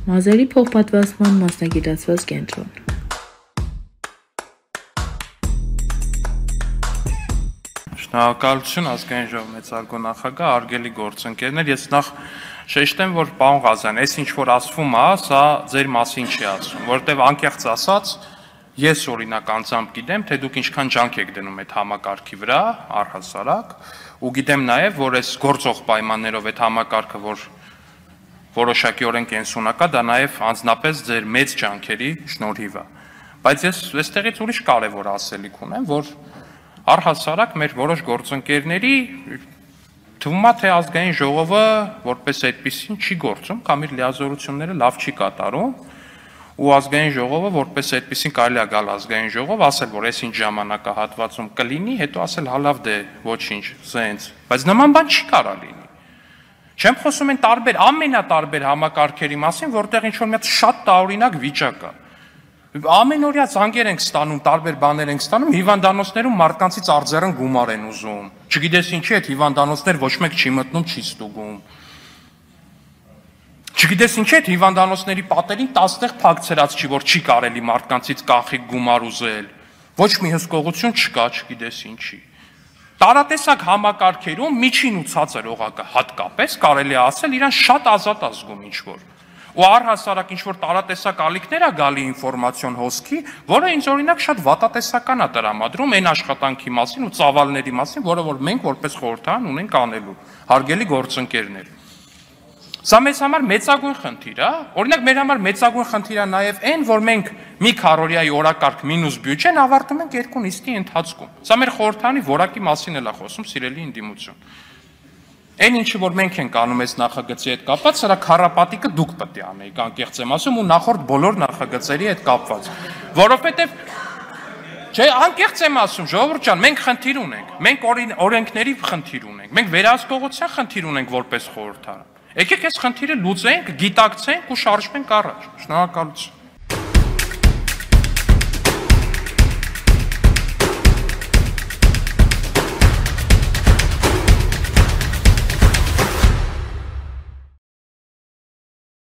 Մազերի փոխպատվաստման մասնագիտացված կենտրոն։ Շնորհակալություն ազգային ժողովի մեծարգո նախագահ, արգելի գործընկերներ, ես նախ շեշտեմ, որ պարոն Ղազարյան, այս ինչ որ ասվում է, սա ձեր մասին չի ասվում, որովհետև անկեղծ ասած, ես օրինակ անձամբ գիտեմ, թե դուք ինչքան ջանք եք դնում այդ համակարգի վրա, առհասարակ, ու գիտեմ նաև, որ այս գործող պայմաններով այդ համակարգը, որ որոշակիորեն կենսունակա, դա նաև անձնապես ձեր մեծ ջանքերի շնորհիվ է։ Բայց ես այստեղից ուրիշ կարևոր ասելիք ունեմ, որ առհասարակ մեր որոշ գործընկերների թվում է, թե ազգային ժողովը որպես այդպեսին չի գործում, կամ իր լիազորությունները լավ չի կատարում, ու ազգային ժողովը որպես այդպեսին կարելի է գալ ազգային ժողով, ասել, որ այս ինչ ժամանակահատվածում կլինի, հետո ասել հալավ դե ոչինչ, սենց, բայց նման բան չի կարա լինի։ Չեմ խոսում են տարբեր, ամենատարբեր համակարգերի մասին, որտեղ ինչ-որ մի հատ շատ տարօրինակ վիճակ է։ Ամենօրյա զանգեր ենք ստանում, տարբեր բաներ ենք ստանում, հիվանդանոցներում մարդկանցից արձերն գումար են ուզում։ Չգիտես ինչի այդ հիվանդանոցներ ոչ մեկ չի մտնում, չի ստուգում։ Չգիտես ինչի այդ հիվանդանոցների պատերին 10 տեղ փակցրած չի, որ չի կարելի մարդկանցից կանխիկ գումար ուզել։ Ոչ մի հսկողություն չկա, չգիտես ինչի։ Տարատեսակ համակարգերում միջին ու ցածր օղակը հատկապես կարելի է ասել իրան շատ ազատ ազգում ինչ-որ։ Ու առհասարակ ինչ-որ տարատեսակ ալիքներ է գալի ինֆորմացիոն հոսքի, որը ինձ օրինակ շատ վատատեսական է տրամադրում այն աշխատանքի մասին ու ծավալների մասին, որը որ մենք որպես խորհրդարան ունենք անելու, հարգելի գործընկերներ։ Սա մեզ համար մեծագույն խնդիր է, օրինակ մեր համար մեծագույն խնդիր է նաև այն, որ մենք մի քառօրյայի օրակարգ մինուս բյուջեն ավարտում ենք 2 նիստի ընթացքում։ Սա մեր խորհրդարանի որակի մասին էլ է խոսում, սիրելի ընդդիմություն։ Այն ինչը որ մենք ենք անում այս նախագծի հետ կապված, սրա քառապատիկը դուք պետք է անեիք, անկեղծ եմ ասում, ու նախորդ բոլոր նախագծերի հետ կապված։ Որովհետև չէ, անկեղծ եմ ասում, ժողովուրդ ջան, մենք խնդիր ունենք, մենք օրենքների խնդիր ունենք, մենք վերահսկողության խնդիր ունենք որպես խորհրդարան։ Եկեք այս խնդիրը լուծենք, գիտակցենք ու շարժվենք առաջ։ Շնորհակալություն։